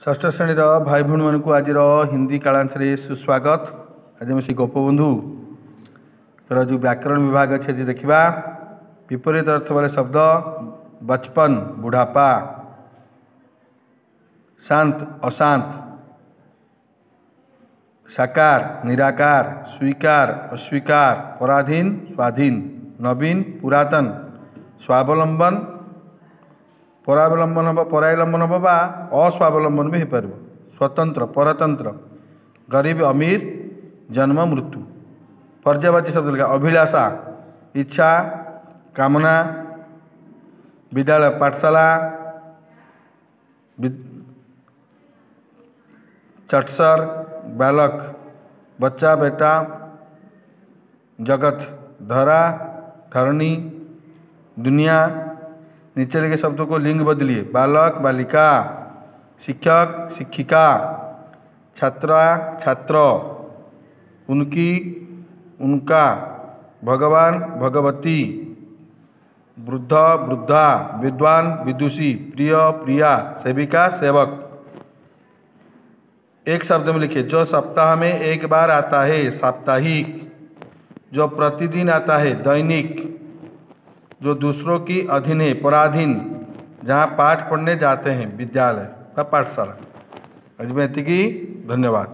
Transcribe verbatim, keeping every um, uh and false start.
ଷଷ୍ଠ ଶ୍ରେଣୀର ଭାଇ ଭଉଣୀମାନଙ୍କୁ ଆଜିର ହିନ୍ଦୀ କାଳାଂଶରେ ସୁସ୍ୱାଗତ। ଆଜି ଆମେ ସେଇ ଗୋପବନ୍ଧୁର ଯେଉଁ ବ୍ୟାକରଣ ବିଭାଗ ଅଛି, ଆଜି ଦେଖିବା। ବିପରୀତ ଅର୍ଥ ବାଲା ଶବ୍ଦ: बचपन, बुढ़ापा। शांत, अशांत। साकार, निराकार। स्वीकार, अस्वीकार। पराधीन, स्वाधीन। नवीन, पुरातन। स्वावलंबन, ପରାବଲମ୍ବନ ହେବ, ପରାବଲମ୍ବନ ହେବ ବା ଅସ୍ୱାବଲମ୍ବନ ବି ହେଇପାରିବ। ସ୍ୱତନ୍ତ୍ର, ପରତନ୍ତ୍ର। ଗରିବ, ଅମୀର। ଜନ୍ମ, ମୃତ୍ୟୁ। ପର୍ଯ୍ୟାୟବାଚୀ ଶବ୍ଦ ଲେଖା: ଅଭିଳାଷା, ଇଚ୍ଛା, କାମନା। ବିଦ୍ୟାଳୟ, ପାଠଶାଲା। चटसर, बालक, बच्चा, बेटा। जगत, धरा, धरणी, दुनिया। नीचे लिखे शब्दों को लिंग बदलिए: बालक, बालिका। शिक्षक, शिक्षिका। छात्रा, छात्र। उनकी, उनका। भगवान, भगवती। वृद्ध, वृद्धा। विद्वान, विदुषी। प्रिय, प्रिया। सेविका, सेवक। एक शब्द में लिखिए: जो सप्ताह में एक बार आता है, साप्ताहिक। जो प्रतिदिन आता है, दैनिक। जो दूसरों की अधीन है, पराधीन। जहाँ पाठ पढ़ने जाते हैं, विद्यालय ବା ପାଠଶାଳା। ଆଜି ପାଇଁ ଏତିକି, ଧନ୍ୟବାଦ।